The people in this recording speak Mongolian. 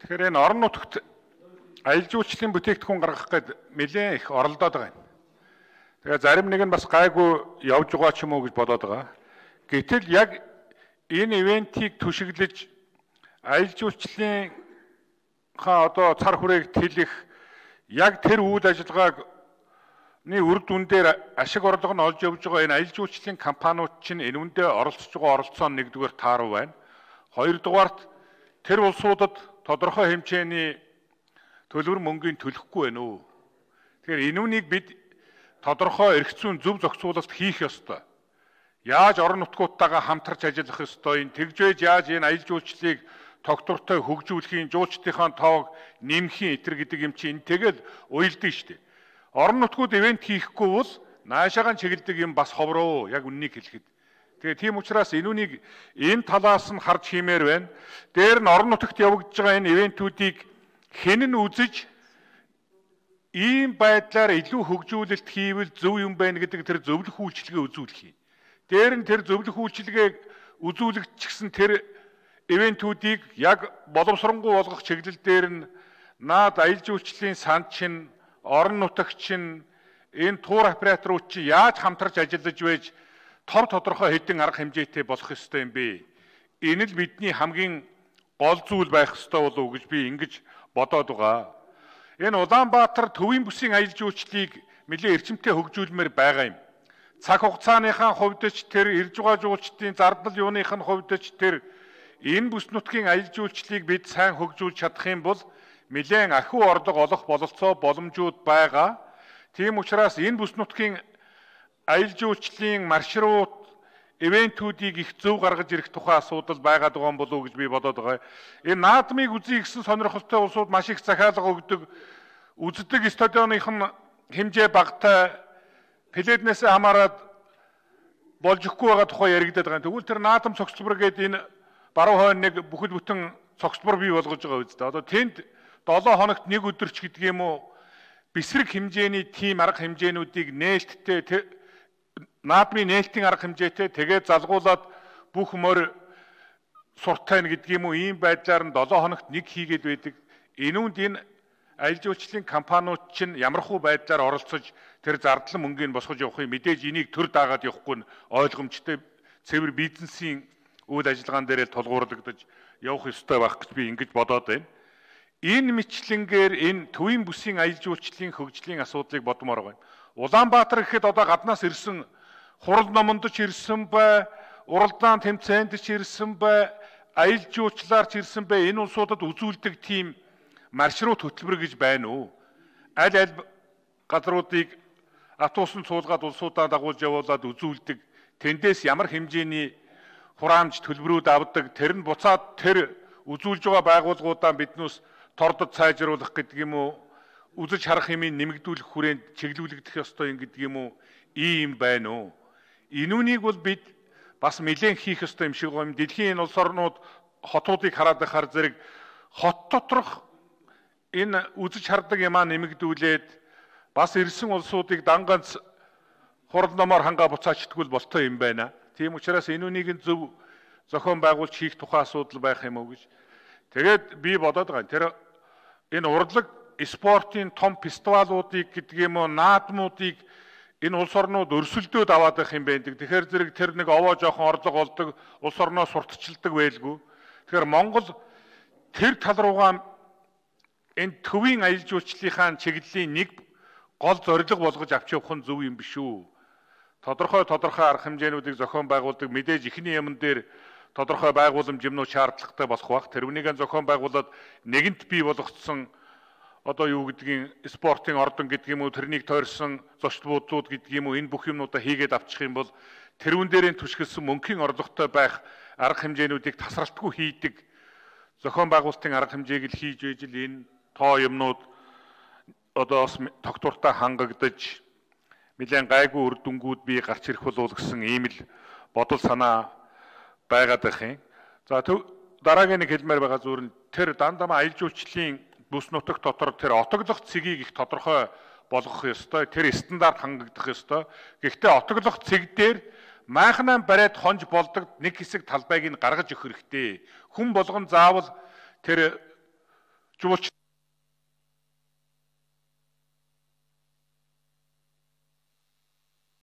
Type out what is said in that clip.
Тэгэхээр энэ орон нутагт аялал жуулчлалын бүтээгдэхүүн гаргах гээд нэлээд их оролдоод байгаа юм. Тэгээ зарим нэг нь бас гайгүй явж байгаа ч юм уу гэж бодоод байгаа. Гэтэл яг энэ ивентийг түшиглэж аялал жуулчлалын одоо цар хүрээг тэлэх яг тэр үйл ажиллагааг үр дүн дээр ашиг орлого нь олж явж байгаа энэ аялал жуулчлалын компаниуд чинь энэ үндэ оролцож байгаа оролцоо нь нэгдүгээр тааруу байна. Хоёрдугаарт тэр улсуудад тодорхой хэмжээний төлбөр мөнгөний төлөхгүй байна уу? Тэгэхээр энэ үнийг бид тодорхой эрх зүйн зөв зохицуулалт хийх ёстой. Яаж орон нутгуудтайгаа хамтарч ажиллах ёстой, тэгжээж яаж энэ аялал жуулчлалыг тогтвортой хөгжүүлэхийн, жуулчдынхаа тоог нэмэхийн итэр гэдэг юм чинь тэгэл уйлдаг шүү дээ. Орон нутгууд ивент хийхгүй бол наашаагаан чиглэдэг юм бас ховроо яг үннийг хэлэхэд. Тэгээ тийм учраас энэ үнийг энэ талаас нь харж хиймээр байна. Дээр нь орон нутагт явагдаж байгаа энэ ивентүүдийг хэн нь үзэж ийм байдлаар илүү хөгжүүлэлт хийвэл зөв юм байна гэдэг тэр зөвлөх үйлчилгээ үзүүлэх юм. Дээр нь тэр зөвлөх үйлчилгээг үзүүлэгдчихсэн тэр ивентүүдийг яг боловсронгуй болгох чиглэл дээр нь наад аялал жуулчлалын санд чинь, орон нутагч чинь, энэ тур операторууд чинь яаж хамтарч ажиллаж байж тодорхой хэдэн арга хэмжээтэй болох ёстой юм бэ? Энэ л бидний хамгийн гол зүйл байх ёстой болов уу гэж би ингэж бодоод байгаа. Энэ Улаанбаатар төвийн бүсийн аялал жуулчлалыг нэлээд эрчимтэй хөгжүүлмээр байгаа юм. Цаг хугацааныхаа хувьд ч тэр ирж байгаа жуулчдын зардал юуных нь хувьд ч тэр энэ бүс нутгийн аялал жуулчлалыг бид сайн хөгжүүлж чадах юм бол нэлээд ахиу орлого олох бололцоо боломжууд байгаа. Тийм учраас энэ бүс нутгийн аялал жуулчлалын маршрут ивентүүдийг их зөв гаргаж ирэх тухай асуудал байгаад байгаа юм болов уу гэж би бодоод байгаа. Энэ наадмыг үзье гэсэн сонирхолтой улсууд маш их захиалга өгдөг. Үздэг стадионных нь хэмжээ багтай пледнээс хамаарад болж ихгүй байгаа тухай яригдаад байгаа. Тэгвэл тэр наадам цогцлбор гэдэг энэ баруун хойно нэг бүхэл бүтэн цогцлбор бий болгож байгаа үстэй. Одоо тэнд 7 хоногт нэг өдөрч гэдэг юм уу бисрэг хэмжээний тим арга хэмжээнүүдийг нээлттэй наадмын нээлтийн арга хэмжээтэй тэгээд залгуулад бүх морь суртайна гэдэг юм уу ийм байдлаар нь 7 хоногт нэг хийгээд байдаг. Энүүнд энэ аялал жуулчлалын компаниуд чинь ямархуу байдлаар оролцож тэр зардал мөнгөний босгож явахыг мэдээж энийг төр даагаад явахгүй нь ойлгомжтой цэвэр бизнесийн үйл ажиллагаан дээр тулгуурлагдаж явах ёстой байх гэж би ингэж бодоод байна. Энэ мэтлэнгээр энэ төвийн бүсийн аялал жуулчлалын хөгжлийн асуудлыг бодмоор байна. Улаанбаатар гэхэд одоо гаднаас ирсэн хурал номонд ч ирсэн бай, уралдаан тэмцээнд ч ирсэн бай, аялал жуулчлалаар ч ирсэн бай, энэ улсуудад үзүүлдэг тийм маршрут хөтөлбөр гэж байна уу? Аль аль газруудыг автобусын цуулгаад улсуудаа дагуулж явуулаад үзүүлдэг. Тэндээс ямар хэмжээний хураамж төлбөрүүд авдаг, тэр нь буцаад тэр үзүүлж байгаа байгууллагуудаа биднээс тордод сайжруулах гэдэг юм уу? Үзэж харах юмыг нэмэгдүүлэх хүрээнд чиглүүлэгдэх ёстой юм гэдэг юм уу? Ийм байна уу? Энүүнийг бол бид бас нэлээд хийх ёстой юм шиг байна. Дэлхийн энэ улс орнууд хотуудыг хараад байхаар зэрэг хот доторх энэ үзэж хардаг юмаа нэмэгдүүлээд бас ирсэн улсуудыг данганц хурал номоор хангаа буцаачдаггүй болтой юм байна. Тийм учраас энүүнийг зөв зохион байгуулж хийх тухай асуудал байх юм уу гэж. Тэгээд би бодоод байгаа. Тэр энэ урлаг спортын том фестивалуудыг гэдэг юм уу наадмуудыг энэ улс орнууд өрсөлдөөд аваад байх юм байдаг. Тэгэхээр зэрэг тэр нэг овоо жоохон орлого олдог, улс орноо сурталчилдаг байлгүй. Тэгэхээр Монгол тэр тал руугаа энэ төвийн аялал жуулчлалынхаа чиглэлийн нэг гол зорилго болгож авч явах нь зөв юм биш үү? Тодорхой арга хэмжээнүүдийг зохион байгуулдаг мэдээж ихний юмн дээр тодорхой байгууламж юмнууд шаардлагатай болох бах. Тэрвнийг зохион байгуулад нэгэнт бий болгоцсон одоо юу гэдгийг спортын ордон гэдэг юм уу тэрнийг тойрсон зочд буудлууд гэдэг юм уу энэ бүх юмнуудаа хийгээд авчих юм бол тэрүүн дээрээ түшгэлсэн мөнхийн орлоготой байх арга хэмжээнүүдийг тасралтгүй хийдэг зохион байгуулалтын арга хэмжээг л хийж ижил энэ тоо юмнууд одоо бас тогтвортой хангагдаж нэлээд гайгүй үр дүнгууд бий гарч ирэх болов гэсэн ийм л бодол санаа байгаад байх юм. За дараагийн нэг хэлмээр байгаа зүйл нь тэр дандаа аялал жуулчлалын бүс нутаг дотор тэр отоглох цэгийг их тодорхой болгох ёстой. Тэр стандарт хангагдах ёстой. Гэхдээ отоглох цэг дээр майхнаа бариад хонж болдог нэг хэсэг талбайг нь гаргаж өгөх хэрэгтэй. Хүн болгон заавал тэр жуулч